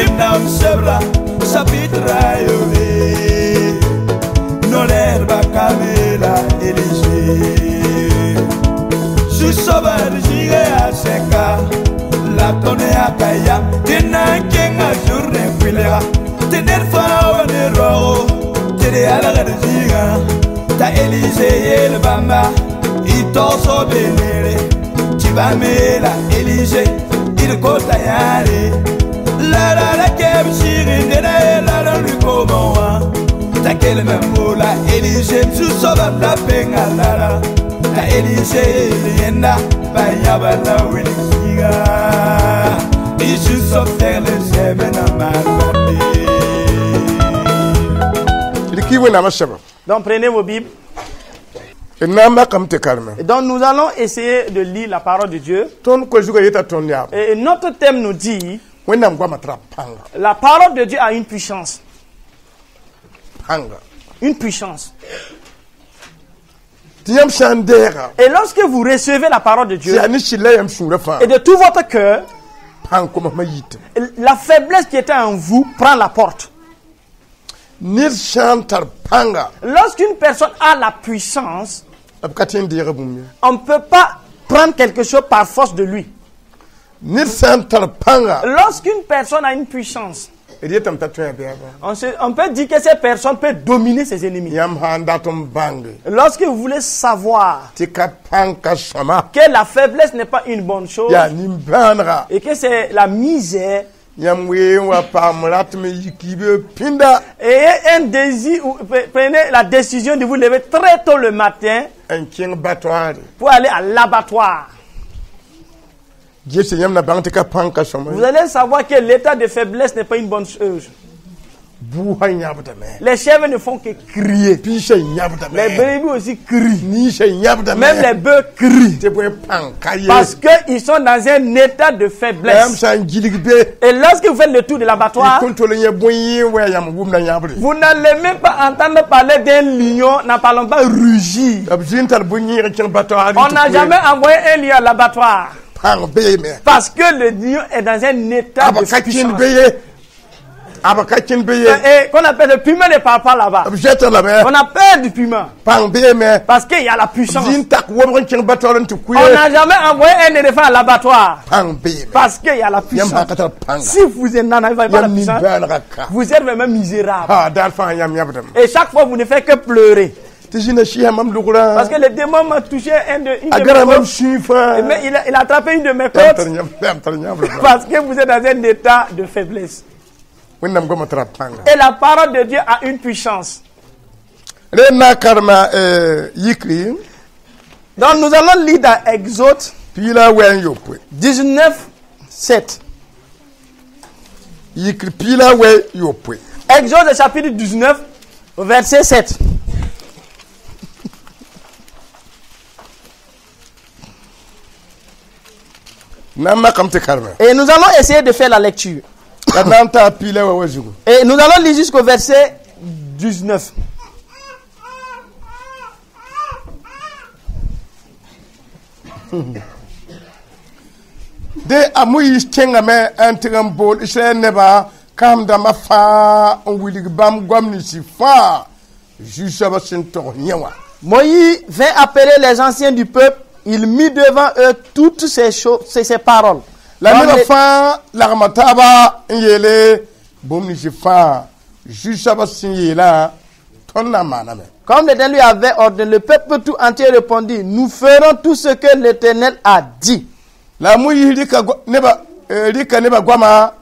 Ribnam sebra chapitre ayobe Noler bakamela Élisée Susobar jige aseka La tone akaya Tena kenga journée kuilega Tener fa wane rogo Tere alaga jiga Ta Élisée yel bamba Itoso benere Chibamela Élisée Il kota yare La la la keb shiri nene la la lui comment Ta kel membola Élisée Susoba la penga la la Ta Élisée yenda Bayaba la wilisiga Isu sof le semena malbate. Rɩk-y wẽnnaamã sɛba. Donc prenez vos Bibles. D na n makame tɩ karema. Et donc nous allons essayer de lire la parole de Dieu. Tõnd koe-zugã yeta tõnd yaab. Et notre thème nous dit, Wẽnnaam goamã tara pãnga. la parole de Dieu a une puissance. Pãnga. Une puissance. Tɩ yãmb sã n deega Et lorsque vous recevez la parole de tɩ Dieu, yaa ne sɩlla yãmb sũurã fãa et de tout votre cœur, pãng komasmã yitame. la faiblesse qui était en vous prend la porte. Ned sã n tar pãnga Lorsqu'une personne a la puissance, b ka tõe n deega bũmb ye. on ne peut pas prendre quelque chose par force de lui. Ned sã n tar pãnga Lorsqu'une personne a une puissance, d yetame t'a tõe a bɛɛba. on peut dire que cette personne peut dominer ses ennemis. Yãmb sã n dat n bãnge Lorsque vous voulez savoir tɩ ka pãng ka sõma que la faiblesse n'est pas une bonne chose yaa nin-bãanega et que c'est la misère yãmb wee n wa paam ratame yik-yibe pĩnda et un désir, ou prenez la décision de vous lever très tôt le matin n kẽng batoare pour aller à l'abattoir. Gese yãmb na bãng tɩ ka pãng ka sõma. Vous allez savoir que l'état de faiblesse n'est pas une bonne chose. Buusã yãbdame. Les chèvres ne font que crier. Piisã yãbdame. Les brebis aussi crient. Ninsã yãbdame. Même les bœufs crient. Tɩ bõe pãng ka ye. Parce qu'ils sont dans un état de La yãmb faiblesse. sã n gilg be Et lorsque vous faites le tour de l'abattoir, kõn tol n yẽ bõe yẽ wa yãmb wʋmda yãbre. vous n'allez même pas entendre parler d'un lion, n'en parlons pas rugir. B zĩ n tar bõe-yẽeg n kẽng batoar. On n'a jamais envoyé un lion à l'abattoir. Pãng beeme. Parce que le lion est dans un état B de ka kẽnd puissance. be ye. B ka kẽnd be ye. Et qu'on appelle le piment ne parle pas là-bas. B zɛta lame. On appelle du piment. Pãng beeme. Parce qu'il y a la puissance. Zĩ n tak wobg n kẽng batoar n tɩ On n'a kʋ. jamais envoyé un éléphant à l'abattoir. Pãng beeme. Parce qu'il y a la Yãmb puissance. sã n ka tar pãnga. Si vous n'en avez pas la Yãmb puissance, nin-bãanegã ka. vous êtes vraiment misérable. Ha daar fãa yãmb yãbdame. Et chaque fois, vous ne faites que pleurer. Tɩ zĩna sɩsa mam logrã. Parce que le démon m'a touché un de, une A de gara mes mam côtes. sũy fãa. Mais il a attrapé une de mes Yãmb côtes. tar yãmb yãmb tar yãmb Parce que vous êtes dans un état de faiblesse. Wẽnnaam goamã tara pãnga. Et la parole de Dieu a une puissance. Rẽ na karema yikri Donc nous allons lire dans Exode piig la a wɛ n yopoe. 19, 7. Yikr piig la a wɛ yopoe. Exode chapitre 19, verset 7. Na n makame tɩ karema. Et nous allons essayer de faire la lecture. La d na n taa piig la wa wa zugu. Et nous allons lire jusqu'au verset 19. De a Moyiis kẽngame n tɩg n bool Israɛl nebã kãsem dãmbã fãa n wilg bãmb goam ninsi fãa Zu-soabã sẽn togs yẽ wã. Moïse vint appeler les anciens du peuple. Il mit devant eux toutes ces choses, ces paroles. La Comme nebã les- fãa lagma taaba n yeele bũmb ninsi fãa Zu-soabã sẽn yeelã tõnd na n maaname. Comme l'Éternel lui avait ordonné, le peuple tout entier répondit, nous ferons tout ce que l'Éternel a dit. La a Moyiis rɩka go- nebã rɩka nebã goamã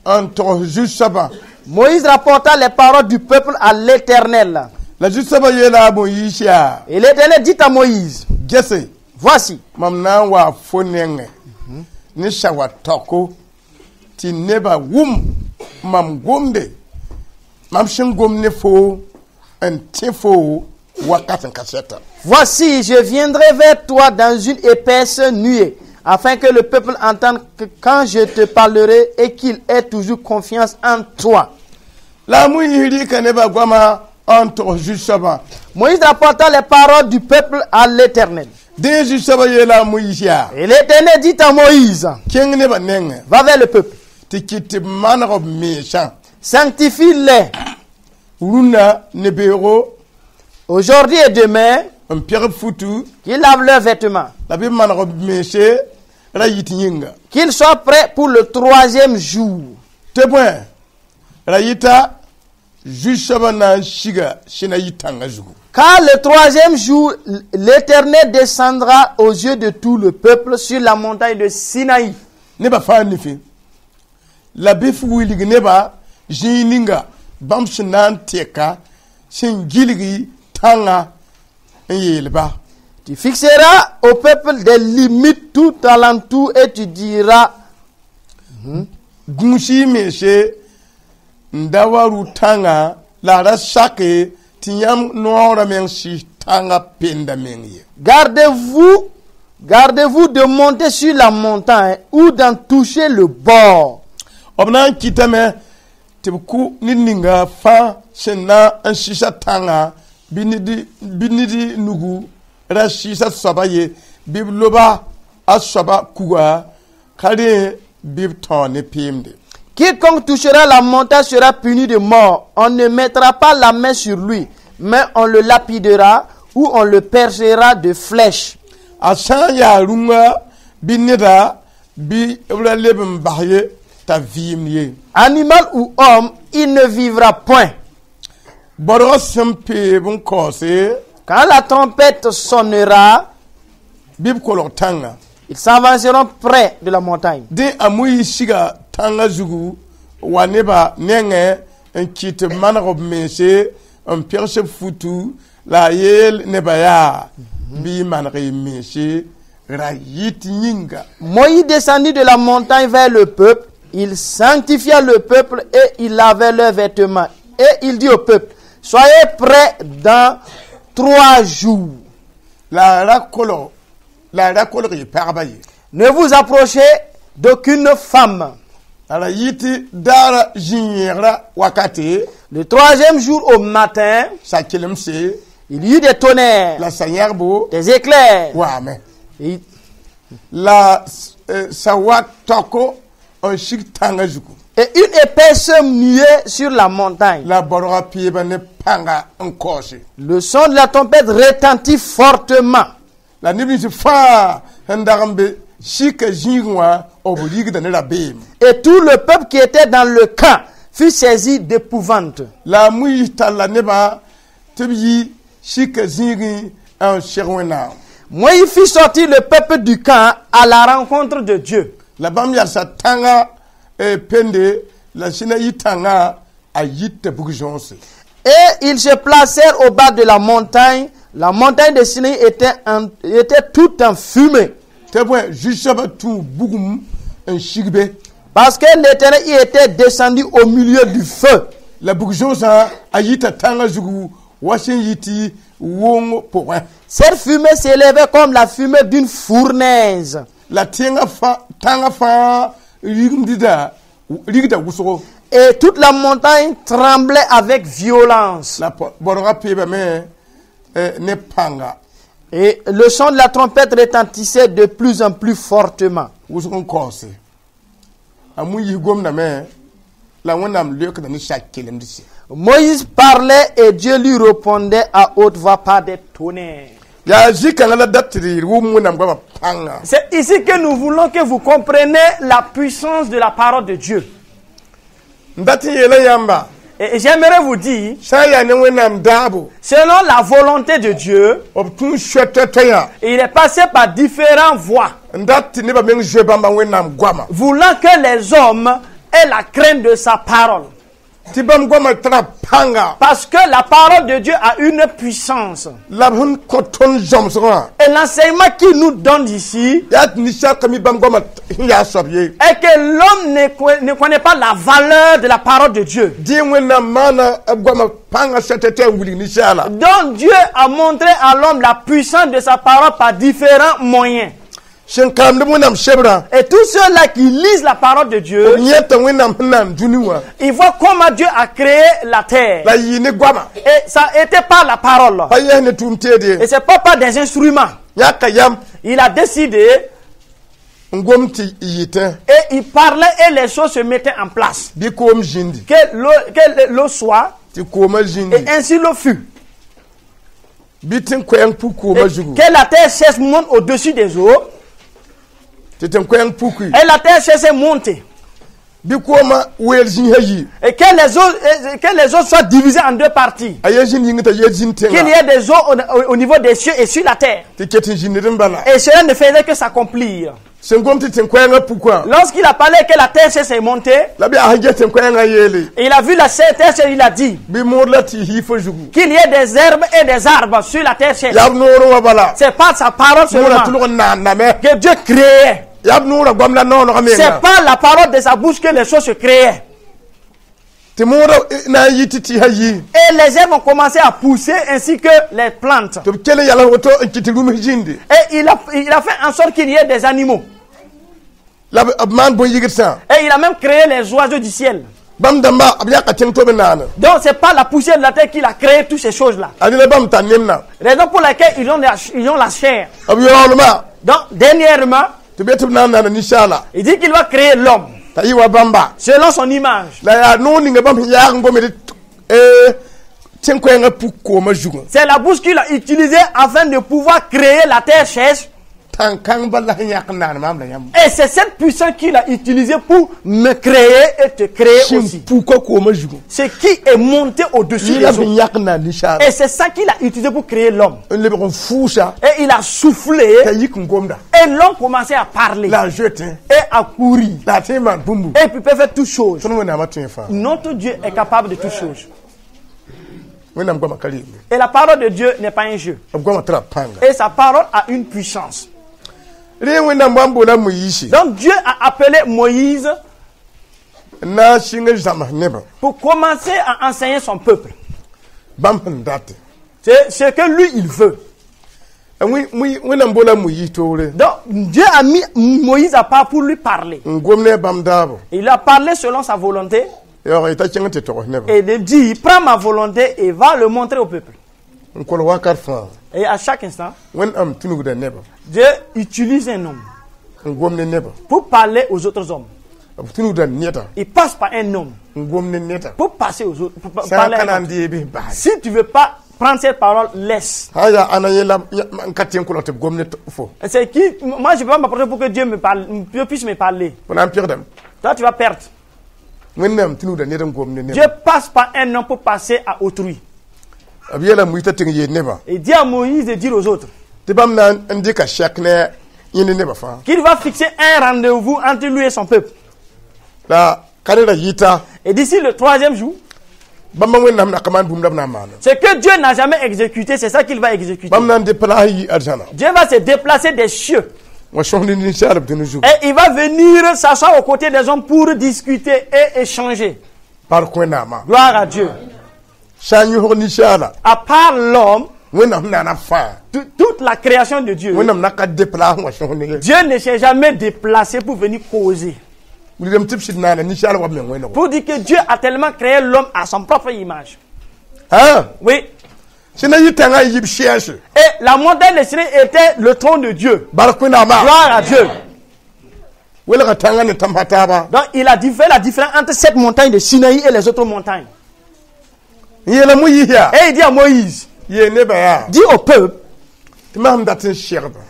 n togs Zu-soabã. Moïse rapporta les paroles du peuple à l'Éternel. La Zu-soabã yeela a Moyiis yaa Et l'Éternel dit à Moïse, gese voici, mam na n waa fo nengẽ ne sawa taoko tɩ nebã wʋm mam gomde mam sẽn gom ne foo n tẽ foo wakat n ka sɛta. Voici, je viendrai vers toi dans une épaisse nuée, afin que le peuple entende que quand je te parlerai et qu'il ait toujours confiance en toi. La a Moyiis rɩka nebã goamã n togs Zu-soabã. Moïse rapporta les paroles du peuple à l'Éternel. Dẽ Zu-soabã yeela a Moyiis yaa Et l'Éternel dit à Moïse, kẽng nebã nengẽ va vers le peuple. Tɩ kɩt tɩ b maneg b mensã. Sanctifie-les Rũnna ne beoogo aujourd'hui et demain, n peg b futu qu'ils lavent leurs vêtements, la bɩ b maneg b mense ra yit yĩnga. Qu'ils soient prêts pour le troisième jour. Tɩ bõe ra yɩta zu-soabã na n siga Sinayi tãngã zugu. Car le troisième jour, l'Éternel descendra aux yeux de tout le peuple sur la montagne de Sinaï. Nebã fãa nifẽ la bɩ f wilg nebã zĩig ninga bãmb sẽn na n tɛka sẽn gilgi tãngã n yeelba. Tu fixeras au peuple des limites tout alentour et tu diras, Gũus-y y mense n da wa rʋ-tãngã la a ra sake tɩ yãmb noorã meng sɩs tãngã penda meng ye. Gardez-vous, gardez-vous de monter sur la montagne ou d'en toucher le bord. B na n kɩtame tɩ b kʋ ned ninga fãa sẽn na n sɩsa tãngã bɩ ned nugu ra sɩɩsa soaba ye bɩ b loba a soaba kuga ka rẽ bɩ b tão ne peemde. Quiconque touchera la montagne sera puni de mort. On ne mettra pas la main sur lui, mais on le lapidera ou on le percera de flèches. A sã n yaa rũngã bɩ neda bɩ b ra leb n bas ye t'a vɩɩmd ye. Animal ou homme, il ne vivra point. Baoodgã sẽn peeb n kaoose Quand la trompette sonnera, bɩ b kolg tãngã. Ils s'avanceront près de la montagne. Dẽ a Moyiis siga tãngã zugu wa nebã nengẽ n kɩt tɩ b maneg b mense n pegs b futu la a yeel nebã yaa bɩ y maneg y mense ra yɩt yĩnga. Moïse descendit de la montagne vers le peuple. Il sanctifia le peuple et il lavait leurs vêtements. Et il dit au peuple, soyez prêts dans 3 jours. La a ra kolg la a ra kolg y pagba ye. Ne vous approchez d'aucune femme. La ra yɩ tɩ daara zĩ-yẽegrã wakate Le troisième jour au matin, sa-kelemse il y eut des tonnerres, la sa-yãgbo des éclairs. waame Et, la sa wa taoko n sig tãngã zugu. Et une épaisse nuée sur la montagne. La baoodgã peeba ne pãnga n kaoose. Le son de la trompette retentit fortement. La neb nins fãa sẽn dag n be sika zĩigẽ wã b rigda ne rabeem. Et tout le peuple qui était dans le camp fut saisi d'épouvante. La a Moyiis talla nebã tɩ b yi sika zĩigẽ n seg Wẽnnaam. Moïse fit sortir le peuple du camp à la rencontre de Dieu. La bãmb yalsa tãngã pende la Sinayi tãngã a yita bug-zõose. Et ils se placèrent au bas de la montagne. La montagne de Sinaï était toute en fumée. Tɩ bõe zu-soabã tũu bugum n sig be. Parce que l'Éternel y était descendu au milieu du feu. La bug-zõosã a yita tãngã zugu wa sẽn yɩ tɩ wong pʋgẽ. Cette fumée s'élevait comme la fumée d'une fournaise. La tẽngã fãa tãngã fãa rigimdda rigda wʋsgo. Et toute la montagne tremblait avec violence. La baoodgã peebame ne pãnga. Et le son de la trompette retentissait de plus en plus fortement. Wʋsg n kaoose a Moyiis gomdame la Wẽnnaam leokda ne sak-kelemdse. Moïse parlait et Dieu lui répondait à haute voix par des tonnerres. Yaa zĩ-kãngã la dat tɩ d wʋm Wẽnnaam goamã pãnga. C'est ici que nous voulons que vous compreniez la puissance de la parole de Dieu. N dat n yeela yãmba Et j'aimerais vous dire, sã n yaa ne Wẽnnaam daabo selon la volonté de Dieu, b tũ soɛt toɛ-toɛyã il est passé par différentes voies, n dat tɩ nebã meng zoe bãmba Wẽnnaam goama voulant que les hommes aient la crainte de sa parole. Tɩ bãmb goamã tara pãnga. Parce que la parole de Dieu a une puissance. La b sẽn kõ tõnd zãmsgã Et l'enseignement qu'il nous donne ici yaa tɩ ninsaal ka mi bãmb goamã sẽn yaa soab ye. Est que l'homme ne connaît pas la valeur de la parole de Dieu. Dẽ Wẽnnaam maana b goamã pãngã soɛt-toɛ n wilg ninsaala. Donc Dieu a montré à l'homme la puissance de sa parole par différents moyens. Sẽn karamd Wẽnnaam sebrã Et tous ceux-là qui lisent la parole de Dieu, b yẽta Wẽnnaam sẽn na n dũni wã ils voient comment Dieu a créé la terre. La yɩ ne goama. Et ça était par la parole. Pa yɛs ne tʋʋm teed ye. Et c'est pas par des instruments. Yãka yam. Il a décidé. N gom tɩ yɩtẽ. Et il parlait et les choses se mettaient en place. Bɩ koom zĩndi. Que l'eau soit, Tɩ koomã zĩndi. Et ainsi l'eau fut. Bɩ tẽn-koɛɛng puk koomã Et zugu. que la terre sèche monte au-dessus des eaux, Tɩ tẽn-koɛɛng puki. Et la terre sèche est montée. Bɩ koomã weel zĩisã yi. Et que les eaux soient divisées en deux parties. A yaa zĩnd yĩng t'a yaa zĩnd Qu'il y tẽnga. ait des eaux au niveau des cieux et sur la terre. Tɩ ket n zĩnd n bala. Et cela ne faisait que s'accomplir. Sẽn gom tɩ tẽn-koɛɛngã pukã. Lorsqu'il a parlé que la terre sèche est montée, La bɩ a sẽn ges tẽn-koɛɛngã yeele. Il a vu la terre sèche, il a dit Bɩ mood la tɩ hiifã zugu. Qu'il y ait des herbes et des arbres sur la terre sèche. Yaa b noorẽ wã bala. C'est par sa parole Noorã seulement tʋlg n naanname. Que Dieu créait. Yaa b noorã goam la noonegã C'est menga. par la parole de sa bouche que les choses se créaient. Tɩ moodã na n yɩ tɩ tɩɩsã yi. Et les herbes ont commencé à pousser ainsi que les plantes. Tɩ b kell n yals woto n kɩt tɩ rũms zĩndi. Et il a fait en sorte qu'il y ait des animaux. La b b maan bõn-yigdsã. Et il a même créé les oiseaux du ciel. Bãmb dãmba b yaka tẽng to b naane. Donc c'est par la poussière de la terre qu'il a créé toutes ces choses-là. A ned bãmb tar nemna. Raison pour laquelle ils ont la chair. B yaoolmã. Donc dernièrement, Tɩ b yet tɩ b na n naana ninsaala. Il dit qu'il va créer l'homme T'a yɩ wa bãmba. Selon son image. La yaa noor ninga bãmb sẽn yaag n gomd tẽn-koɛɛngã puk koomã zugã. C'est la bouche qu'il a utilisée afin de pouvoir créer la terre sèche. Tãn-kãng bala la sẽn yãk n naan maam la yãmb. Et c'est cette puissance qu'il a utilisée pour me créer et te créer Sẽn aussi. puka koomã zugã. Ce qui est monté au-dessus Yɩ la des sẽn eaux. yãk n naan ninsaala. Et c'est ça qu'il a utilisé pour créer l'homme. N lebg n fʋʋsa. Et il a soufflé T'a yik n gomda. Et l'homme commençait à parler La a zoetẽ. Et à courir. La a tõe n maan bũmbu. Et puis peut faire toutes choses. Tõnd Wẽnnaamã tõe fãa. Notre Dieu est capable de toutes choses. Wẽnnaam goamã ka reembe. Et la parole de Dieu n'est pas un jeu. B goamã tara pãnga. Et sa parole a une puissance. Rẽ Wẽnnaam wa n boola Moyiisi. Donc Dieu a appelé Moïse N na n sɩng zãms nebã. Pour commencer à enseigner son peuple. Bãmb sẽn date. C'est ce que lui, il veut. Wẽnnaam boola Moyiis toore. Donc Dieu a mis Moïse à part pour lui parler. N gom ne a bãmb daabo. Il a parlé selon sa volonté Yaoog yeta kẽng tɩ togs nebã. Et il dit, prends ma volonté et va le montrer au peuple. N kolg wakat fãa. Et à chaque instant, Wẽnnaam tũnugda nebã. Dieu utilise un homme N gom ne nebã. Pour parler aux autres hommes. B tũnugda neda. Il passe par un homme N gom ne neda. pour passer aux autres. Pour Sã parler n à ka na un n autre. deeb b bas. Si tu ne veux pas prendre cette parole, laisse. Sã n yaa ãna yẽ la n ka tẽ n kolg tɩ b gom ne fo. C'est qui? Moi, je ne peux pas m'approcher pour que Dieu me parle, Dieu puisse me parler. Fo na n pɩgdame. Toi, tu vas perdre. Wẽnnaam tũnugda ned n gom ne Dieu nebã. Passe par un homme pour passer à autrui. B yeela Moyiis t'a tɩng yeel nebã. Et dit à Moïse de dire aux autres Tɩ bãmb na n dɩka sɛk ne yẽ ne nebã fãa. Qu'il va fixer un rendez-vous entre lui et son peuple. La ka reda yɩta. Et d'ici le troisième jour, Bãmba Wẽnnaam na ka maan bũmb la b na n maana. Ce que Dieu n'a jamais exécuté, c'est ça qu'il va exécuter. Bãmb na n déplace yi arzãna. Dieu va se déplacer des cieux Wa sõsd ne ninsaalb dũni zugu. Et il va venir s'asseoir aux côtés des hommes pour discuter et échanger. Bark Wẽnnaamã. Gloire à Dieu. Sã n yõsg ninsaala. À part l'homme, Wẽnnaam naana fãa. Toute la création de Dieu, Wẽnnaam na ka déplace wa sõsd ne. Dieu ne s'est jamais déplacé pour venir causer. Wilgame tɩ b sɩd naana ninsaal wa b meng wẽnego. Pour dire que Dieu a tellement créé l'homme à son propre image. Sã Oui. sẽn na yɩ tãngã n yib sɛɛse. Et la montagne de Sinaï était le trône de Dieu. Bark Wẽnnaamã. Gloire à Dieu. Welga tãngã ne tãmsã taaba. Donc il a fait la différence entre cette montagne de Sinaï et les autres montagnes. N yeela Moyiis yaa. Et il dit à Moïse, Yeel nebã yaa. Dis au peuple Tɩ mam dat n segba.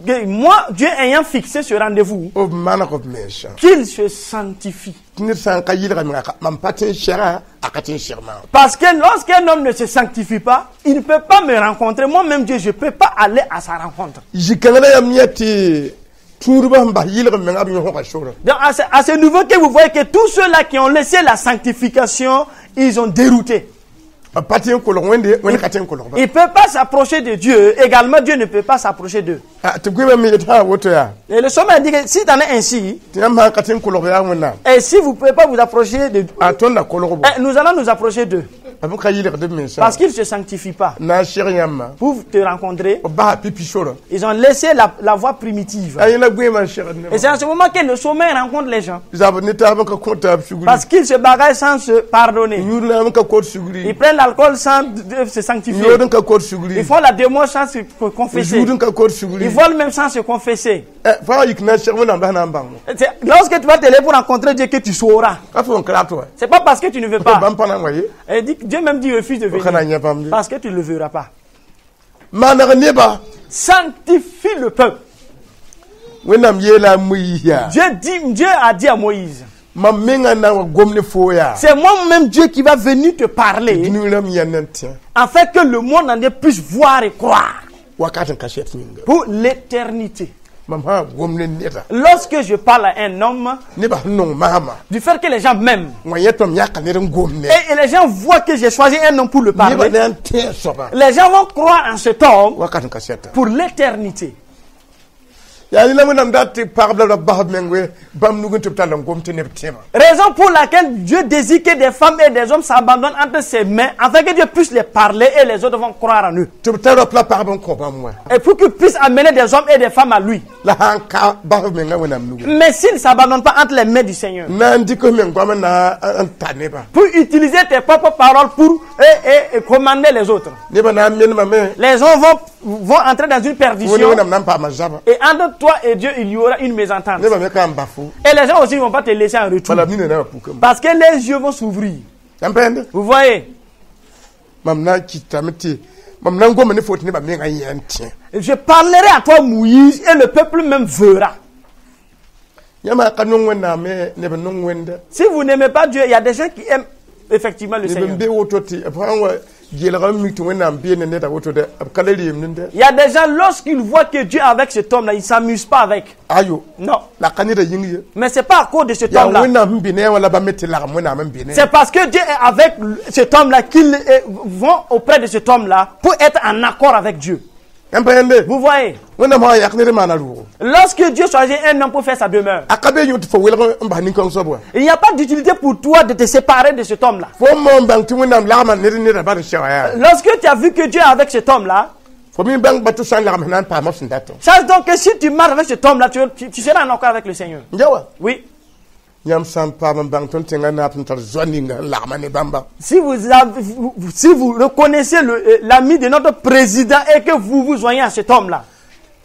que moi, Dieu ayant fixé ce rendez-vous, B maneg b mensã. Qu'il se sanctifie. Tɩ ned sã n ka yɩlga menga mam pa tẽ n sega a ka tẽ n seg maam. Parce que lorsqu'un homme ne se sanctifie pas, il ne peut pas me rencontrer. Moi-même, Dieu, je ne peux pas aller à sa rencontre. Zĩ-kãngã la yam yã tɩ tũudbã sẽn bas yɩlg menga b yõsga sora. Donc à ce niveau que vous voyez que tous ceux-là qui ont laissé la sanctification, ils ont dérouté. B pa tẽ n kolg Wẽnde Wẽnd ka tẽ n kolgba. Ils ne peuvent pas s'approcher de Dieu. Également, Dieu ne peut pas s'approcher d'eux. Tɩ goẽma me yet sã woto yaa. Et le sommet dit que si t'en es ainsi, Tɩ yãmb sã n ka tẽ n kolg yaa Wẽnnaam. Et si vous ne pouvez pas vous approcher de A tõnd na kolgbo. Eh, nous allons nous approcher d'eux. B ka yɩlgd b mensã Parce qu'ils ne se sanctifient pas. Na n seg yãmbã Pour te rencontrer, b basa pipi sorã ils ont laissé la voie primitive. A yẽla goeemã n segd Et c'est en ce moment que le sommeil rencontre les gens. Zabd ne taab n ka kõ taab sugri Parce qu'ils se bagarrent sans se pardonner. Yũud naam n ka kot Ils sugri prennent l'alcool sans se sanctifier. Yood n ka kot sugri Ils font la démon sans se confesser. Zũud n ka kot sugri Ils volent même sans se confesser. Fo a yik na n seg wẽnnaam la sẽn na n bãng C'est lorsque tu vas te lever pour rencontrer Dieu que tu sauras. Ka fo n ka rat wa C'est pas parce que tu ne veux pas. Bãmb pa na n wa ye Et dit, Dieu même dit refuse de fo ka na venir. n yã bãmb ye Parce que tu ne le verras pas. Maneg neba Sanctifie le peuple. Wẽnnaam yeela a Moyiis yaa Dieu a dit à Moïse, mam menga na n wa gom ne foo yaa c'est moi-même Dieu qui va venir te parler dũni rãmb yãnd n tẽ afin que le monde entier puisse voir et croire wakat n kaset yĩnga pour l'éternité. Mam sã n gom ne neda Lorsque je parle à un homme, nebã sẽn nong maama du fait que les gens m'aiment wã yẽ tõm yãka ned n gom ne et les gens voient que j'ai choisi un homme pour le nebã parler, na n tẽ a soaba les gens vont croire en cet homme wakat n kasɛta pour l'éternité. Yaa rẽ la wẽnnaam dat tɩ pagb la b bas b meng we bãmb nug n tɩ b tall n gom tɩ neb tẽbã Raison pour laquelle Dieu désire que des femmes et des hommes s'abandonnent entre ses mains afin que Dieu puisse les parler et les autres vont croire en eux. Tɩ b tar rap la pagb n kõ bãmb wã Et pour qu'ils puissent amener des hommes et des femmes à lui. La sã n ka bas b menga wẽnnaam nugu Mais s'ils ne s'abandonnent pas entre les mains du Seigneur, na n dɩk f meng goam n na n ta nebã pour utiliser tes propres paroles pour et commander les autres. Nebã na n menemame Les gens vont entrer dans une fo ne perdition wẽnnaam na n paama zaba et entre toi et Dieu, il y aura une mésentente. Nebã me ka n bas fo Et les gens aussi ne vont pas te laisser en retour. Bala b nina na wã pukame Parce que les yeux vont s'ouvrir. yãmb pẽende Vous voyez, mam na n kɩtame tɩ mam na n goma ne fo tɩ nebã menga yẽ n tẽ je parlerai à toi, Moïse, et le peuple même verra. Yãmb ka nong wẽnnaam me neb n nong wẽnda Si vous n'aimez pas Dieu, il y a des gens qui aiment effectivement le neb n Seigneur. be woto tɩ b sã n wa geelga n mik tɩ wẽnnaam bee ne neda woto dɛ b ka le reem nenda Il y a des gens, lorsqu'ils voient que Dieu est avec cet homme-là, ils ne s'amusent pas avec. Ayo Non. La ka neda yĩng ye Mais c'est pas à cause de cet yaa homme-là. wẽnnaam sẽn be ne a wã la bãmb me tɩ lagem wẽnnaam n be ne C'est parce que Dieu est avec cet homme-là qu'ils vont auprès de cet homme-là pour être en accord avec Dieu. Yãmb pa yẽnde Vous voyez, wẽnnaam sã n yak ned n maana rʋʋgo lorsque Dieu choisit un homme pour faire sa demeure, a ka be yõ tɩ fo welg n bas nin-kãng soab wã il n'y a pas d'utilité pour toi de te séparer de cet homme-là. Fo n moon bãng tɩ wẽnnaam lagma ned n neda bad n sɛga yaa Lorsque tu as vu que Dieu est avec cet homme-là, fo mi bãng ba tɩ sã n lagem sẽn na n paama f sẽn datã sache donc que si tu marches avec cet homme-là, tu seras en accord avec le Seigneur. N ja wa Oui. Yãmb sã n paam n bãng tõnd tẽngã naab sẽn tar zoa ninga n lagma ne bãmba Si vous reconnaissez l'ami de notre président et que vous vous joignez à cet homme-là,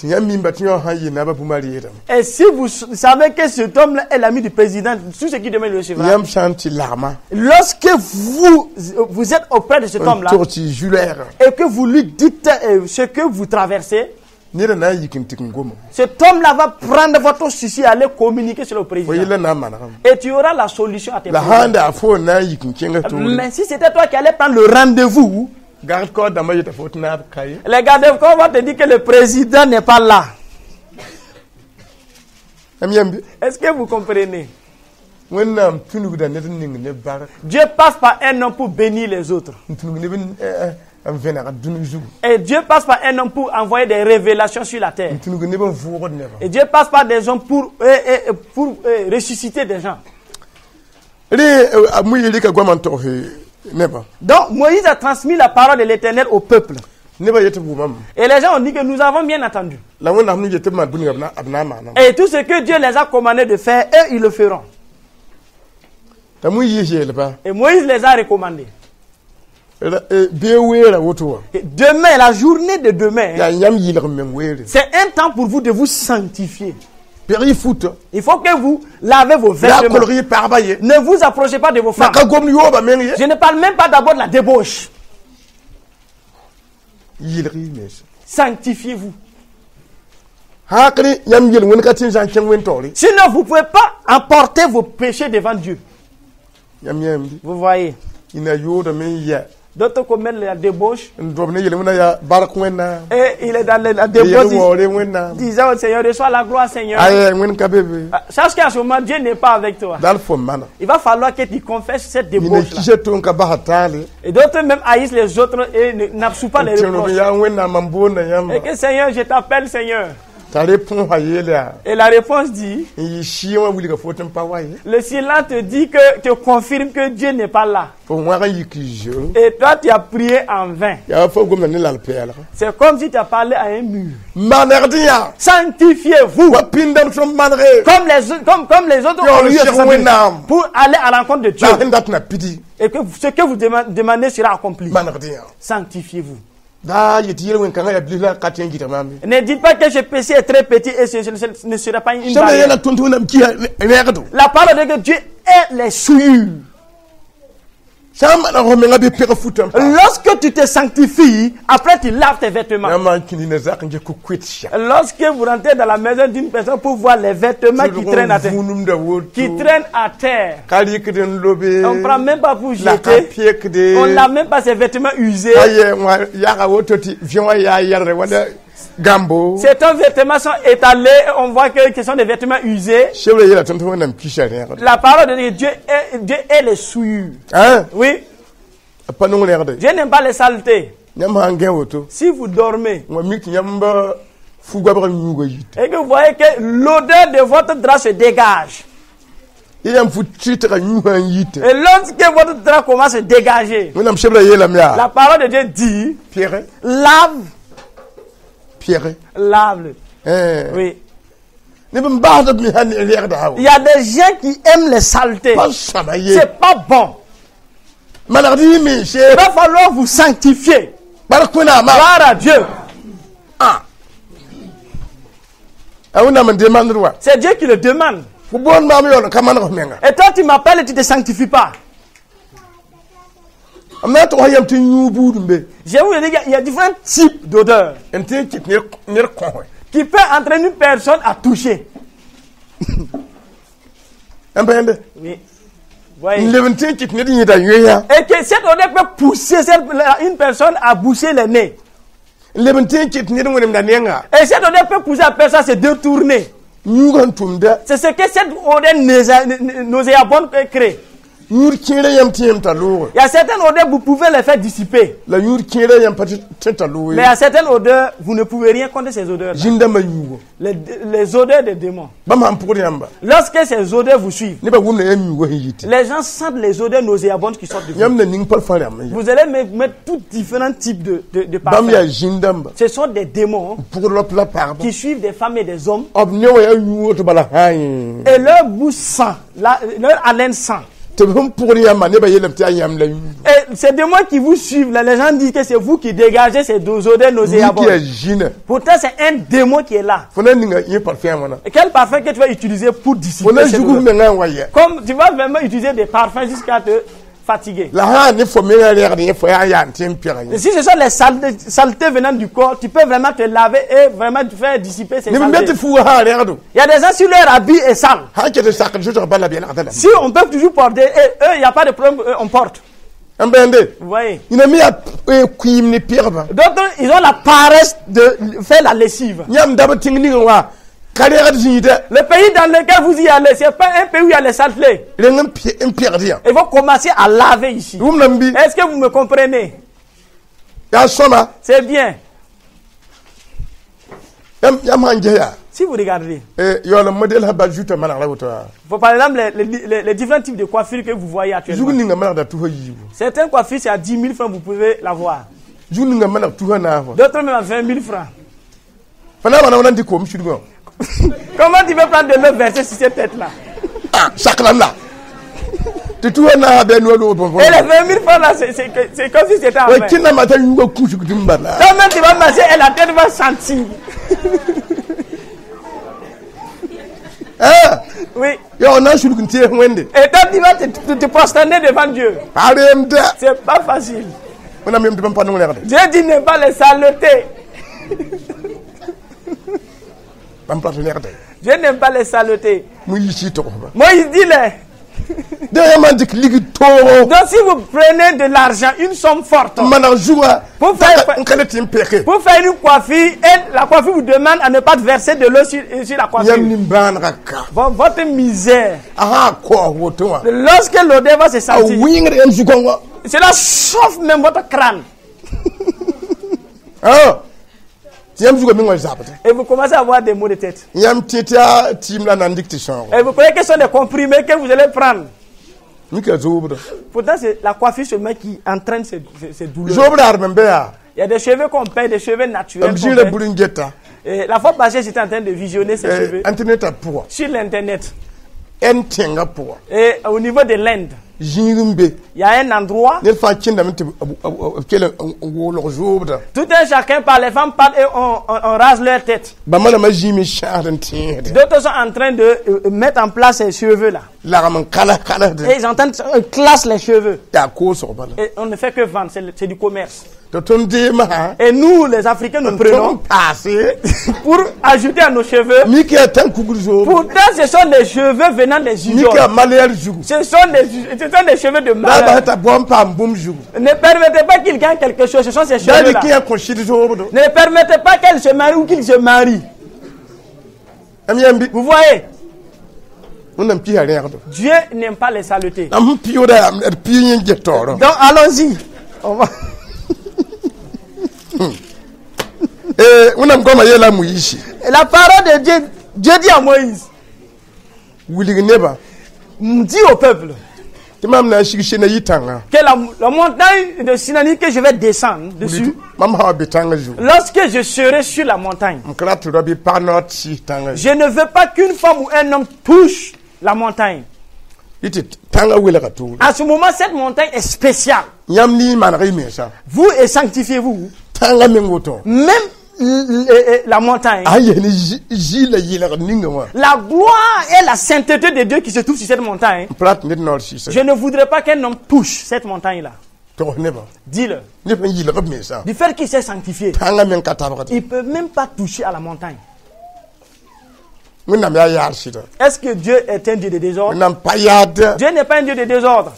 tɩ yãmb mimba tɩ yõ sã n yɩ naabã bũmb a reedame et si vous savez que cet homme-là est l'ami du président, tout ce qui demain le recevra. Yãmb sã n tɩ lagma Lorsque vous, vous êtes auprès de cet n homme-là tog tɩ y zu-lɛɛgã et que vous lui dites ce que vous traversez, neda na n yik n tɩk n goma cet homme-là va prendre votre souci et aller communiquer sur le fo président. yella na n manegame Et tu auras la solution à tes la sã n problèmes. daa fo n na n yik n kẽnga toore Mais si c'était toi qui allais prendre le rendez-vous, gard kaoor dãmbã yeta fo tɩ naab ka ye les gardes on va te dire que le président n'est pas là. Yãmb yãmbe Est-ce que vous comprenez? Wẽnnaam tũnugda ned n ning ne bark Dieu passe par un homme pour bénir les autres. N tũnug neb n n vẽneg dũni zugu Et Dieu passe par un homme pour envoyer des révélations sur la terre. N tũnug neb n vʋʋgd nebã Et Dieu passe par des hommes pour ressusciter des gens. Rẽ a Moyiis rɩka goamã n togs nebã Donc Moïse a transmis la parole de l'Éternel au peuple. Nebã yetɩ b wʋmame Et les gens ont dit que nous avons bien entendu. La wẽnnaam sẽn yet tɩ b maan bũmb ninga b na n maaname Et tout ce que Dieu les a commandé de faire, eux, ils le feront. T'a Moyiis yeelba Et Moïse les a recommandés. Bee weera woto wã Et demain, la journée de demain, yaa yãmb yɩlg meng weere c'est un temps pour vous de vous sanctifier. Peg y futa Il faut que vous lavez vos la vêtements. kolg y pagba ye Ne vous approchez pas de vos la femmes. ka gomd yoobã meng ye Je ne parle même pas d'abord de la débauche. Yɩlg y mens Sanctifiez-vous. Hãkre yãmb yel wẽnd ka tɩ n zã n kẽng wẽn taoore Sinon, vous ne pouvez pas emporter vos péchés devant Dieu. Yãmb yãmb Vous voyez. Ina yoodame n yɛ D'autres commettent la débauche. N dob ne yel wẽnna yaa bark wẽnnaam Et il est dans la yel débauche. waoore wẽnnaam Disant au Seigneur, reçois la gloire, Seigneur. Ay wẽnd ka be be Ah, sache qu'à ce moment, Dieu n'est pas avec toi. Dal fo mana Il va falloir que tu confesses cette yĩna débauche-là. kisa tʋ n ka basa taale Et d'autres même haïssent les autres et n'absouent pas les n tẽng reproches. yaa wẽnnaam mam boonda Et yãmba que Seigneur, je t'appelle Seigneur. T'a répõosã yeel yaa Et la réponse dit, n yɩ sɩɩ wã wilga fo tɩ n pa wa ye le silence te dit que, te confirme que Dieu n'est pas là. Fo wãg n yik zoe Et toi, tu as prié en vain. Yaa fo gomda ne lal-pɛɛlga. C'est comme si tu as parlé à un mur. Manegd yã Sanctifiez-vous. Wa pĩndame sẽn manege Comme les autres Yo, ont le eu Cheikh à Wẽnnaam. pour aller à l'encontre de Dieu. La sẽn dat na pidi. Et que ce que vous demandez sera accompli. Manegd yã Sanctifiez-vous. Daa yetɩ yel-wẽn-kãngã yaa bilf la ka tõe n gɩdg maam ye. Ne dites pas que ce péché est très petit et ce ne sera pas une Sẽm barrière. yeela tõnd tɩ Wẽnnaam kisa rẽegdo. La parole dit que Dieu est les souillures. Sã n maneg fo menga bɩ peg futã n pa. Lorsque tu te sanctifies, après tu laves tes vêtements. Yãmb n kĩnd na zak n ges ku-koet sã. Lorsque vous rentrez dans la maison d'une personne pour voir les vêtements qui traînent à terre, vũnumda woto qui traînent à terre, ka rɩkd n lobe on ne prend même pas pour la ka jeter, pekde on ne lave même pas ses vêtements usés. Ka yɛ wã yaga woto tɩ vẽ wã yaa yɛlgre wala gãmbo. Certains vêtements sont étalés, on voit que ce sont des vêtements usés. Sebrã yeela tõnd tɩ Wẽnnaam kisa rẽegd. La parole de Dieu, Dieu est les souillures. Ãn Oui, a pa nong rẽgde. Dieu n'aime pas les saletés. Yãmb sã n gẽ woto Si vous dormez n wa mik tɩ yãmb fu-goabg yũuga yita et que vous voyez que l'odeur de votre drap se dégage, yã yãmb fu-tɩtgã yũusã n yita et lorsque votre drap commence à se dégager, Wẽnnaam sebrã yeelame yaa la parole de Dieu dit, pɛge lave, pɛge lave-le. Oui. Neb n baasd b mesã ne rẽgda Il y a des gens qui aiment les saletés. Pa sõama ye. C'est pas bon. Manegd y mense. Il va falloir vous sanctifier. Bark Wẽnnaamã. Gloire à Dieu. A Wẽnnaam n demandr wa. C'est Dieu qui le demande. Fo boond maam yaool n ka maneg f menga. Et toi, tu m'appelles et tu ne te sanctifies pas. M na n tʋgsa yam tɩ yũu buud n be. Je vous ai dit qu'il y a différents types d'odeurs N tõe n kɩt ned kõse. Qui peuvent entraîner une personne à toucher. N bẽende Oui. Voyez. N leb n tõe n kɩt ned yẽda yoeeyã. Et que cette odeur peut pousser une personne à boucher le nez. N leb n tõe n kɩt ned wẽnemda nenga. Et cette odeur peut pousser la personne à se détourner. Yũugã n tʋmda. C'est ce que cette odeur nauséabonde peut créer. Yũud kẽerã yãmb tɩ yãmb t'a loogã. Il y a certaines odeurs, vous pouvez les faire dissiper. La yũud kẽerã yãmb pa tɩ t'a loog Mais il y a certaines odeurs, vous ne pouvez rien contre ces odeurs. Zĩn-dãmbã yũugo. Les odeurs des démons. Bãmb sãn pʋgd yãmba Lorsque ces odeurs vous suivent, nebã wʋmda yãmb yũugã sẽn yite. Les gens sentent les odeurs nauséabondes qui sortent de vous. Yãmb na ning parfum rãmb n ya. Vous allez mettre tous différents types de Bãmb yaa parfums. zĩn-dãmba Ce sont des démons pʋgd rap la pagba qui suivent des femmes et des hommes. B ne wa yaa yũug woto bala hãy. Et leur bouche sent, leur haleine sent. Tɩ b sẽn pʋgd yãmbã nebã yeelame tɩ yaa yãmb la yũugo. Et ces démons qui vous suivent, là, les gens disent que c'est vous qui dégagez ces deux odeurs Yik yaa nauséabondes. zĩna. Pourtant, c'est un démon qui est là. Fo na ninga yẽ parfum wãna. Et quel parfum que tu vas utiliser pour Fo dissiper na cette zug f odeur? mengã n wa yɛ. Comme tu vas vraiment utiliser des parfums jusqu'à te fatiguer. La sã n ne fo mengã rẽgd yẽ fo yaa yaa n tɩ n pɛg Et yẽ. si ce sont les saletés venant du corps, tu peux vraiment te laver et vraiment te faire dissiper ces Neb n be saletés. tɩ fuugã sã n rẽgdo Il y a des gens, si leur habit est sale, sã n ket n sakd zoetg bala b yɛlgda lame. si on peut toujours porter, et eux, il n'y a pas de problème, eux, on porte. N bẽende Vous voyez. yẽna me yaa kʋɩɩm ne pɛgba. D'autres, ils ont la paresse de faire la lessive. Yãmb dab tẽng ning wã ka rẽgd zĩida. Le pays dans lequel vous y allez, ce n'est pas un pays où il y a les saletés. Reng n pɛgd yã. Il faut commencer à laver ici. Wʋmdame bɩ Est-ce que vous me comprenez? Yaa sõma. C'est bien. Yãmb yãmb sãn ges yaa Si vous regardez, yaool n modɛl sã bal zuta manegr a woto yaa faut par exemple les différents types de coiffures que vous voyez actuellement. zug ninga manegda tusa yiibu. Certaines coiffures, c'est à 10 000 francs, vous pouvez l'avoir. Zug ninga maneg tusa naas wã. D'autres même à 20 000 francs. Fa na n maan wãna n dɩk koom sudgã wã. Comment tu peux prendre de l'eau versée sur cette tête-là? Ah, sakram la tɩ tusa naasã bɩ a noa loog Et les bõn 20 000 francs là, c'est comme si c'était en wa vain. kẽnnaamã t'a yũugã kũsg tɩ n bala. Toi-même, tu vas masser et la tête va sentir. Ah, Oui. yaool na n sulg n tees Wẽnde. Et toi, tu vas te prosterner devant Dieu. Pa reemda. C'est pas facile. Wẽnnaam yem tɩ bãmb pa nong rẽgde. Dieu dit ne pas les saletés. Bãmb pa tɩ rẽgde. Dieu n'aime pas les saletés. Moyiis yɩ togsba. Moïse dit les. Dẽ yãmb n dɩk ligd toogo Donc si vous prenez de l'argent, une somme forte, n maneg zugã Pour faire- n ka le tɩ n peke pour faire une coiffure, et la coiffure vous demande à ne pas verser de l'eau sur la coiffure. yãmb nimbãanegã ka. Bon, votre misère, A sã n kaoos woto wã lorsque l'odeur va se a sentir, wɩngd yãmb zu-gãongã. Cela chauffe même votre crâne. Ah. Tɩ yãmb zugã meng wã zabd. Et vous commencez à avoir des maux de tête. Yãmb tẽ tɩ yaa tɩɩm la na n dɩk tɩ sãoogo. Et vous croyez que ce sont des comprimés que vous allez prendre. Mika zoobda. Pourtant, c'est la coiffure seulement qui entraîne ces douleurs. Zoobda adem n be yaa. Il y a des cheveux qu'on perd, des cheveux naturels M qu'on zĩigra perd. bur n geta. Et la fois passée, j'étais en train de visionner ces cheveux Internet pʋga. Sur l'internet. Ẽnd tẽngã pʋga. Et au niveau de l'Inde, Zĩig n be. Il y a un endroit, Ned fãa kẽndame tɩ b kell n woolg zoobda. Tout un chacun parle, les femmes parlent et on rase leur tête. Bãmba rãmbã zĩime sãasd n tẽesde. D'autres sont en train de mettre en place ces cheveux-là. Lagm n kalas kalasde. Et ils entendent, on classe les cheveux. Yaa koosg bala. Et on ne fait que vendre, c'est du commerce. Tɩ tõnd deemã Et nous, les Africains, nous prenons tõnd paase pour ajouter à nos cheveux. mik yaa tãn-kugr zoob. Pourtant, ce sont des cheveux venant des Mik yaa idoles. malɛɛr zugu. Ce sont des cheveux de La a malheur. bas t'a bao n paam bũmb zugu. Ne permettez pas qu'il gagne quelque chose. Ce sont ces Da cheveux-là. dɩk yã kõ sɩd zoobdo. Ne permettez pas qu'elle se marie ou qu'il se marie. M yãmb Vous voyez, Wẽnnaam pisa rẽegdo. Dieu n'aime pas les saletés. La m pɩʋʋda yaa d pɩ yẽ get taoorã. Donc, allons-y. On va. Wẽnnaam goamã yeela a Moyiisi. La parole de Dieu, Dieu dit à Moïse, Wilg nebã dis au peuple tɩ mam na n sig Sinayi tãngã. Que la montagne de Sinaï que je vais descendre dessus, Mam sã wa be tãngã zugu. Lorsque je serai sur la montagne, M ka rat tɩ rao bɩ pag noor tɩ sɩs tãngã zugu. Je ne veux pas qu'une femme ou un homme touche la montagne. Yɩ tɩ tãngã welga toore. À ce moment, cette montagne est spéciale. Yãmb ne y maneg y mensã. Vous et sanctifiez-vous. Tãngã meng woto. Même la montagne. A sẽn ges ne zĩ la yɩlgd ninga wã. La gloire et la sainteté de Dieu qui se trouve sur cette montagne. M pa rat tɩ ned noor sɩsa. Je ne voudrais pas qu'un homme touche cette montagne-là. Togs nebã. Dis-le. Neb sẽn yɩlg b mensã. Du fait qu'il s'est sanctifié, Tãngã meng ka tabgd. il ne peut même pas toucher à la montagne. Wẽnnaam yaa yaar sɩda. Est-ce que Dieu est un Dieu de désordre? Wẽnnaam pa yaad. Dieu n'est pas un Dieu de désordre.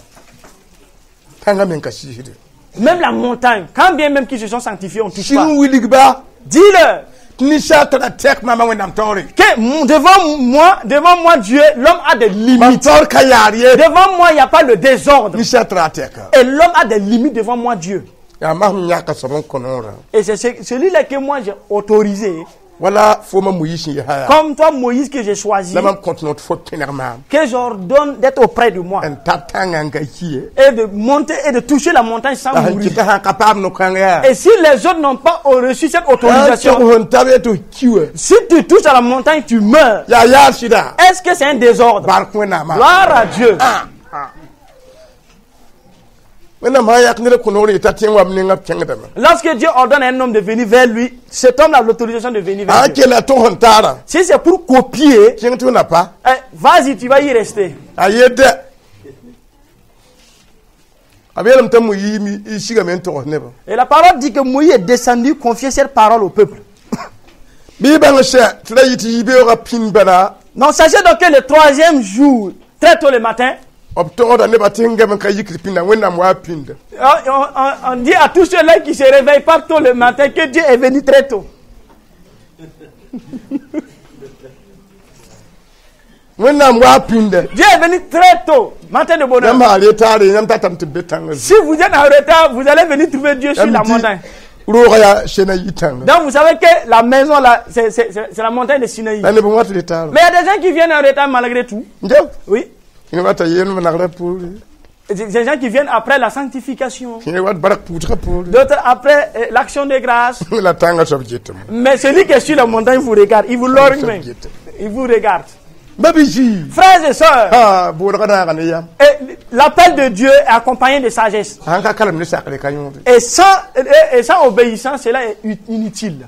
Tãngã meng ka sɩsde. Même la montagne, quand bien même qu'ils se sont sanctifiés, on ne touche Sɩng pas. wilgba Dis-le tɩ ninsaal tara tɛk maama Wẽnnaam taoore. Que devant moi, Dieu, l'homme a des Mam limites. taoor ka yaar ye. Devant moi, il n'y a pas le désordre. Ninsaal tara tɛka. Et l'homme a des limites devant moi, Dieu. Yaa masem yãka soab n kõ noorã. Et c'est celui-là que moi j'ai autorisé. Wala fooma Moyiis sẽn yaa yaa. Comme toi, Moïse, que j'ai choisi, La mam kõt noor tɩ fo kẽneg maam. Que j'ordonne d'être auprès de moi. N tab tãngã n ka ki ye. Et de monter et de toucher la montagne sans La sẽn mourir. kɩta sã n ka paam no-kãng yaa. Et si les autres n'ont pas reçu cette autorisation, Tɩg sẽn tab ye tɩ f ki wã. si tu touches à la montagne, tu meurs. Yaa yaar sɩda. Est-ce que c'est un désordre? Bark Wẽnnaamã. Gloire à Dieu. Wẽnnaam sã n yak ned kõ noor yeta tẽ n wa b nengã b kẽngdame. Lorsque Dieu ordonne à un homme de venir vers lui, cet homme a l'autorisation de venir vers A Dieu. kela tɩ sẽn taara. Si c'est pour copier, Kẽng tɩ f na pa. Eh, vas-y, tu vas y rester. A yedde. A yeelame t'a Moyiis sigame n togs nebã. Et la parole dit que Moïse est descendu confier cette parole au peuple. Bɩ y bãng sɛ tɩ ra yɩ tɩ yibeoogã pĩnd bala. Donc sachez donc que le troisième jour, très tôt le matin, B togda nebã tɩ sẽn gam n ka yikd pĩnda Wẽnnaam waa pĩnda. on dit à tous ceux-là qui se réveillent pas tôt le matin que Dieu est venu très tôt. Wẽnnaam waa pĩnda. Dieu est venu très tôt, matin de bonheur. Yãmb sã retaare yãmb tatame tɩ b be tãngã Si vous êtes en retard, vous allez venir trouver Dieu sur la montagne. Roogã yaa Sinayi tãnga. Donc vous savez que la maison là, c'est la montagne de Sinaï. La neb n wat retaarã. Mais il y a des gens qui viennent en retard malgré tout. Nje. Oui. Yẽ wata yeel nagrã poore. Des gens qui viennent après la sanctification. Yẽ wat bark pʋʋsgã poore. D'autres après l'action de grâce. La tãngã soab getame. Mais celui qui est sur la montagne vous regarde. Il vous lorgne Soab même. gete. Il vous regarde. Ba-bi-zii. Frères et sœurs, Ah, bʋʋdgã naaga ne yam. et l'appel de Dieu est accompagné de sagesse. Sãn ka kalem ne sakre ka yõode. Et sans obéissance, cela est inutile.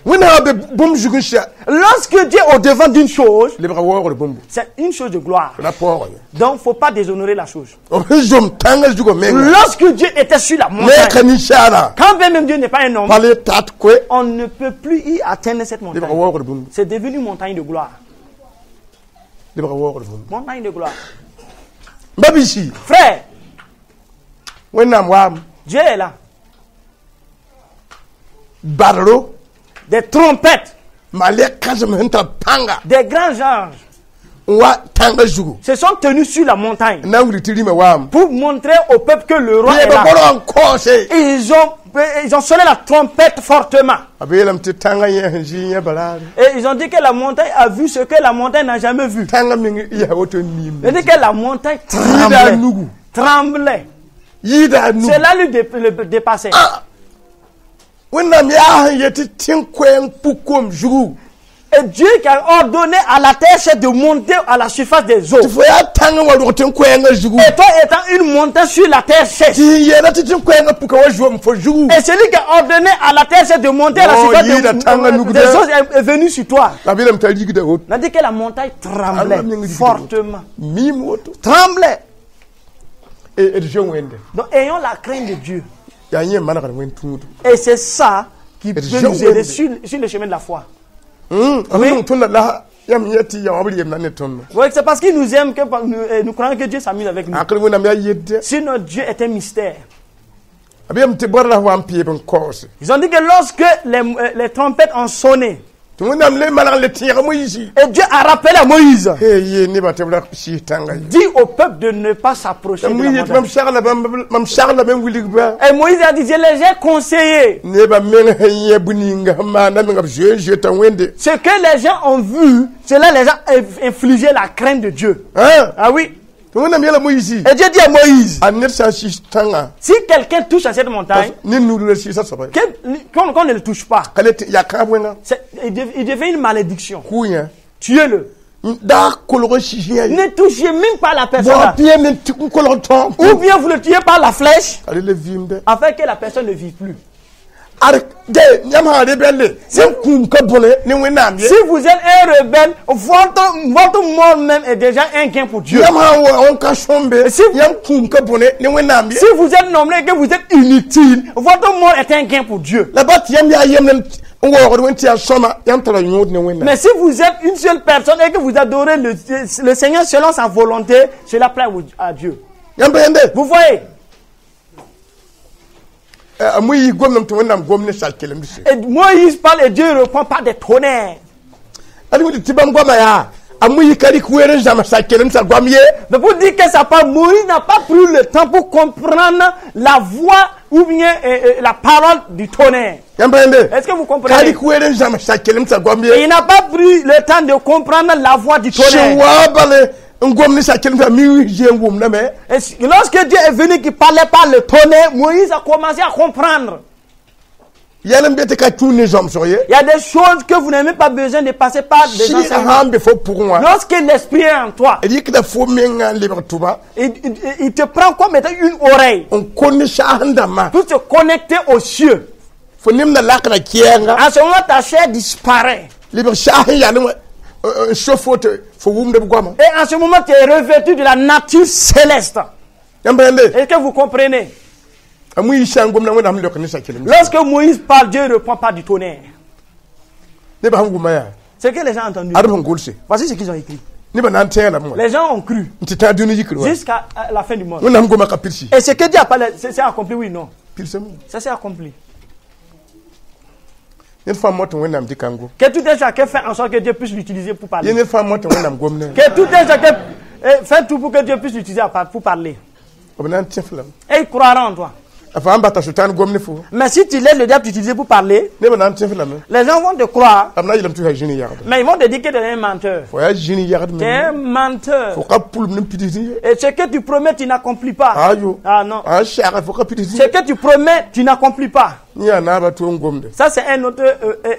Wẽnnaam be bũmb zug n sɛ. Lorsque Dieu est au-devant d'une chose, Lebga waoogr bũmbu. c'est une chose de gloire. La paoog ye. Donc, il ne faut pas déshonorer la chose. B sẽn zom tãngã zugã menga. Lorsque Dieu était sur la Ne montagne, ka ninsaala. quand bien même Dieu n'est pas un homme, Pa le tat koe. on ne peut plus y atteindre cette Lebga montagne. waoogr bũmbu. C'est devenu une montagne de gloire. Lebga waoogr bũmbu. Montagne de gloire. Ba-bi-zii. Frère, Wẽnnaam waam. Dieu est là. Badro. Des trompettes, Malɛk kãsem sẽn tar pãnga. Des grands anges N wa tãngã zugu. Se sont tenus sur la montagne N na n wilg tɩ rĩmã waam. pour montrer au peuple que le roi est Neebã là. borg n kaoose. Ils ont ils ont sonné la trompette fortement. B yeelame tɩ tãngã yẽ sẽn zɩ yẽ baraare. Et ils ont dit que la montagne a vu ce que la montagne n'a jamais vu. Tãngã meng yaa woto n miim. Il dit que la montagne Yɩɩda tremblait. nugu. Tremblait. Yɩɩda a nugu. Cela le dépassait. Wẽnnaam yaa sẽn yet tɩ tẽn-koɛɛng puk koom zugu. Et Dieu qui a ordonné à la terre, c'est de monter à la surface des eaux. Tɩ fo yaa tãngã wa rog tẽn-koɛɛngã zugu. Et toi étant une montagne sur la terre sèche. Tɩ sẽn yeela tɩ tẽn-koɛɛngã puka wa zoom fo zugu. Et celui qui a ordonné à la terre, c'est de monter à la Oh, surface yɩɩda tãngã nugda. des eaux est venu sur toi. La b yeelame t'a rigda woto. On a dit que la montagne tremblait Allah meng rigda fortement. Miim woto. Tremblait. D zoe Wẽnde. Donc ayons la crainte de Dieu. Yaa yẽ manegd wẽnd tũudo. Et c'est ça qui peut je nous aider wende. sur le chemin de la foi. B nong tõnda la yãmb yẽ tɩ yã wã b reemda ne tõndo. Oui, c'est parce qu'il nous aime que nous croyons que Dieu s'amuse avec nous. Ãkr Wẽnnaam yaa yedde. Sinon, Dieu est un mystère. B yeelame tɩ bõr la wa n peeb n kaoose. Ils ont dit que lorsque les trompettes ont sonné, Tɩ Wẽnnaam le maneg le tẽeg Moyiisi. et Dieu a rappelé à Moïse, Hey, yee nebã tɩ b ra sɩɩs tãngã ye. dit au peuple de ne pas s'approcher de la Moyiis yet montagne. mam saglame mam saglame n wilg bã. Et Moïse a dit, je les ai conseillés. Nebã meng sẽn yẽ bũ-ninga sẽn maanda menga b zoe n zoeta Wẽnde. Ce que les gens ont vu, cela les a infligé la crainte de Dieu. Ã Ah oui. Tɩ Wẽnnaam yeela Moyiisi. Et Dieu dit à Moïse, A ned sã n sɩs tãngã si quelqu'un touche à cette montagne, ne nudra sɩɩsã soaba ye. qu'on ne le touche pas, Ka le tɩ yaa kãab wẽnga. Il devient une malédiction. Kʋ yã. Tuez-le. Da kolg n sɩs yã ye. Ne touchez même pas la personne. Bao Là. pɩ n tɩ n kolg tõog. Ou bien vous le tuez par la flèche, A le vɩɩmdɛ. afin que la personne ne vive plus. Ad de yãmb sã rebelle yãmb kũum ka bõne ne Wẽnnaam ye. Si vous êtes un rebelle, votre mort même est déjà un gain pour Dieu. Yãmb sã n wa n ka sõmbe yãmb kũum ka bõne ne Wẽnnaam ye. Si vous êtes nommé et que vous êtes inutile, votre mort est un gain pour Dieu. La ba tɩ yãmb yaa yemd n waoogd Wẽnd tɩ yaa sõma yãmb tara yõod ne Wẽnnaam. Mais si vous êtes une seule personne et que vous adorez le Seigneur selon sa volonté, cela plaît à Dieu. Yãmb pa yẽnde. Vous voyez? A Moyiis gomdame tɩ Wẽnnaam gom ne sal-kelemdse. Et Moïse parle et Dieu répond par des tonnerres. Ad wẽnd tɩ bãmb goamã yaa a Moyiis ka rɩk weer n zãms sal-kelemdsã goam ye. Mais pour dire que ça parle, Moïse n'a pas pris le temps pour comprendre la voix ou bien la parole du tonnerre. Yãmb pa yẽnde. Est-ce que vous Ka comprenez? rɩk weer n zãms sal-kelemdsã goam Et ye. il n'a pas pris le temps de comprendre la voix du Sẽn tonnerre. wa bal n gom ne sal-kelemdsã mi zoe n wʋmdame. Et lorsque Dieu est venu qui parlait par le tonnerre, Moïse a commencé à comprendre. Yɛl n be tɩ ka tũud ne zãmsg ye. Il y a des choses que vous n'avez même pas besoin de passer par des Sɩɩgã enseignements. sã n be fo pʋgẽ wã Lorsque l'esprit est en toi, rɩkda fo menga n lebg tʋba il te prend comme étant une oreille n kõ ne saasẽ dãmbã pour te connecter aux cieux. fo nemda lakra kɛɛnga En ce moment, ta chair disparaît. lebg saasẽ yalẽ wã n so fo tɩ fo wʋmd b goama. Et en ce moment, tu es revêtu de la nature céleste. Yãmb pa yẽnde. Est-ce que vous comprenez? A Moyiis sã n gomda Wẽnnaam leok ne sa-kelemd. Lorsque Moïse parle, Dieu ne répond pas du tonnerre. Nebã sẽn wʋma yaa C'est que les gens ont entendu. ad b sẽn gʋlse. Voici ce qu'ils ont écrit. Nebã na n tẽeg lame wã Les gens ont cru n tɩ tãag dũni yikr wã. jusqu'à la fin du monde. Wẽnnaam goma ka pilsi. Et ce que Dieu a parlé, c'est accompli, oui, non. Pilsame. Ça s'est accompli. Ned fãa mot tɩ Wẽnnaam dɩk n gom. Que tout un chacun fait en sorte que Dieu puisse l'utiliser pour Yẽ parler. ned fãa mot tɩ Wẽnnaam gom ne. Que tout un chacun fait tout pour que Dieu puisse l'utiliser pour parler. B na n tẽ f lame. Et il croira en toi. A fãa n bata Sʋtãan gom ne fo. Mais si tu laisses le diable t'utiliser pour parler, Nebã na n tẽ f lame. les gens vont te croire, B na n yeelame tɩ yaa zĩni yagd. mais ils vont te dire que tu es un menteur. Fo yaa zĩni yagd Tu es un meng. menteur. Fo ka pʋlem ne pids ye. Et ce que tu promets, tu n'accomplis pas. Ayo. Ah non. A sɛga fo ka pids Ce ye. que tu promets, tu n'accomplis pas. Yẽ yaa naabã tʋ n gomde. Ça, c'est un autre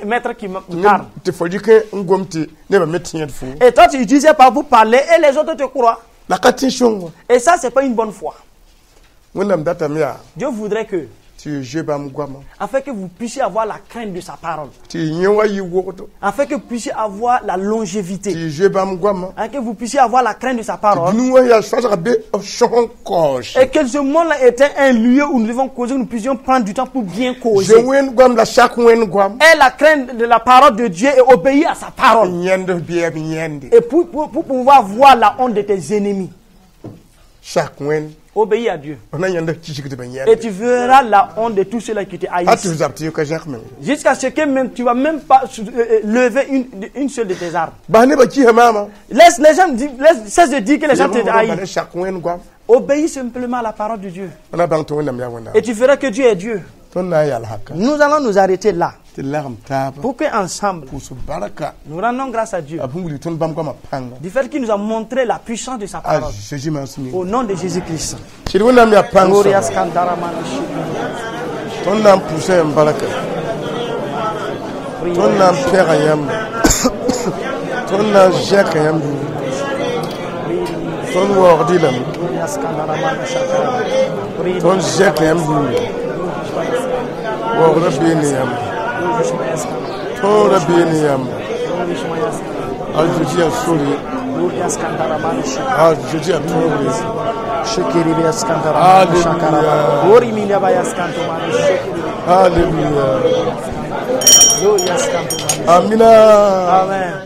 maître qui me parle. Tɩ fo dɩk n gom tɩ nebã me tẽed fo. Et toi, tu utilises pas pour parler et les autres te croient. La ka tẽ sõngo. Et ça, c'est pas une bonne foi. Wẽnnaam datame yaa Dieu voudrait que, tɩ y zoe bãmb goamã. afin que vous puissiez avoir la crainte de sa parole, Tɩ y yẽ wa yɩ wogdo. afin que vous puissiez avoir la Tɩ longévité, y zoe bãmb goamã. afin que vous puissiez avoir la crainte de sa parole, Dũni wã yaa sõsga be b sõs n kaoose. et que ce monde-là était un lieu où nous devons causer, où nous puissions prendre du temps pour bien causer. Zoe Wẽnd goam la sak Wẽnd goam. Et la crainte de la parole de Dieu et obéir à sa parole. Yẽnd f bɛɛb yẽnde. Et pour pouvoir voir la honte de tes ennemis. Sak Wẽnd. Obéis à Dieu. F na yẽnd f kisgdbã Et yẽnde. tu verras la honte de tous ceux-là qui te A tɩ haïssent. f zab tɩ y ka zãk meng. Jusqu'à ce que même tu ne vas même pas lever une seule de tes armes. Bas nebã kisa maama. Laisse les gens dire, cesse de dire que les gens te haïssent. Sak Wẽnd goam. Obéis simplement à la parole de Dieu. Na bãng tɩ Wẽnnaam yaa Wẽnnaam. Et tu verras que Dieu est Dieu. Tõnd na n yal haka. Nous allons nous arrêter là Tɩ lagem taaba. Pour qu'ensemble, Pʋʋs barka. Nous rendons grâce à Dieu A sẽn wilg tõnd bãmb goamã pãnga. Du fait qu'il nous a montré la puissance de sa A parole. Zeezi maasem. Au nom de Jésus-Christ. Sɩd Wẽnnaam yaa pãng Gloria soaba. skandaramana shukuru. Tõnd na n pʋʋsa yãmb barka. Tõnd na n pɛga yãmb. Tõnd na n zẽka yãmb yũuri. Tõnd waoogd-y lame. Gloria skandaramana shakara. Tõnd zẽka yãmb yũuri. Waoogdã bee ne yãmb. Tõodã bee ne yãmb. A Zeezi yaa sore. Gloria skandaramana shakara. A Zeezi yaa tõogre. Shukiri skandaramana Alléluia. Shakara. Ori minaba skantomana shukiri. Alléluia. Gloria skantomana. Amina. Amen.